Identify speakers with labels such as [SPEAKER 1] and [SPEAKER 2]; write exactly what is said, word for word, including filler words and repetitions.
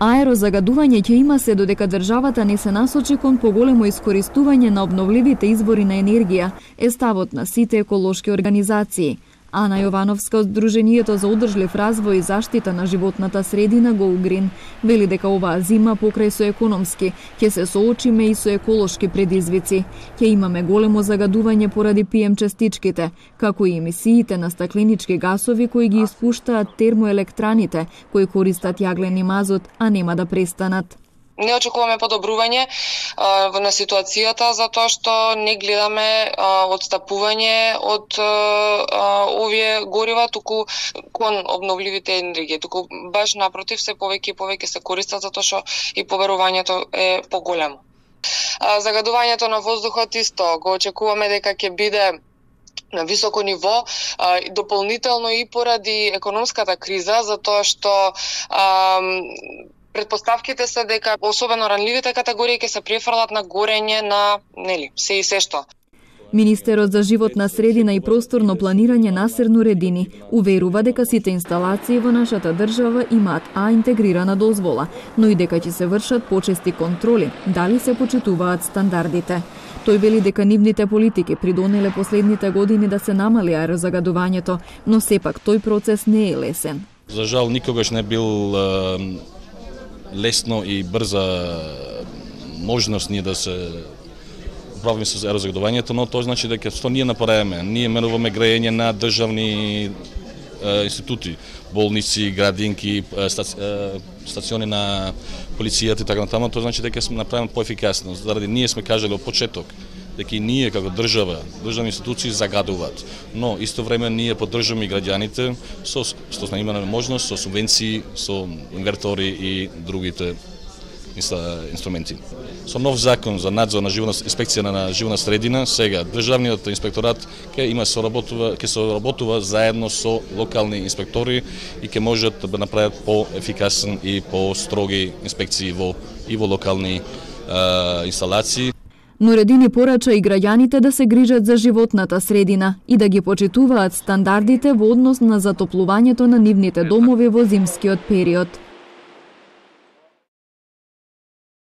[SPEAKER 1] Аерозагадување ќе има се додека државата не се насочи кон поголемо искористување на обновливите извори на енергија, е ставот на сите еколошки организации. Ана Јовановска од Сдруженијето за одржлив развој и заштита на животната средина Go Green вели дека оваа зима покрај со економски ќе се соочиме и со еколошки предизвици. Ќе имаме големо загадување поради пи ем частичките, како и емисиите на стакленички гасови кои ги испуштаат термоелектраните, кои користат јаглен и мазот, а нема да престанат.
[SPEAKER 2] Не очекуваме подобрување а, на ситуацијата затоа што не гледаме а, одстапување од а, овие горива, туку кон обновливите енергии. Туку баш напротив, се повеќе и повеќе се користат затоа што и поверувањето е поголемо. А, загадувањето на воздухот исто го очекуваме дека ќе биде на високо ниво, а, дополнително и поради економската криза, затоа што а, предпоставките се дека особено ранливите категории ќе се префрлат на горење на, нели, се и се што.
[SPEAKER 1] Министерот за животна средина и просторно планирање Насер Нуредини уверува дека сите инсталации во нашата држава имаат А интегрирана дозвола, но и дека ќе се вршат почести контроли дали се почитуваат стандардите. Тој вели дека нивните политики придонеле последните години да се намали аерозагадувањето, но сепак тој процес не е лесен.
[SPEAKER 3] За жал никогаш не бил лесно и брза можност ние да се управиме со аерозагадувањето, но тоа значи дека што ние направиме. Ние меруваме грејење на државни е, институти, болници, градинки, стаци, е, стациони на полицијата и така натаму. Тоа значи дека сме направени поефикасно. Заради ние сме кажале од почеток дека и ние како држава, државни институции загадуваат, но исто време ние поддржуваме граѓаните со што сме имале можност со субвенции, со инвертори и другите инструменти. Со нов закон за надзор на животна инспекција на животна средина, сега државниот инспекторат ќе има соработува, ќе соработува заедно со локални инспектори и ќе можат да направат поефикасен и построги инспекции во и во локални а, инсталации.
[SPEAKER 1] Нуредини порача и граѓаните да се грижат за животната средина и да ги почитуваат стандардите во однос на затоплувањето на нивните домови во зимскиот период.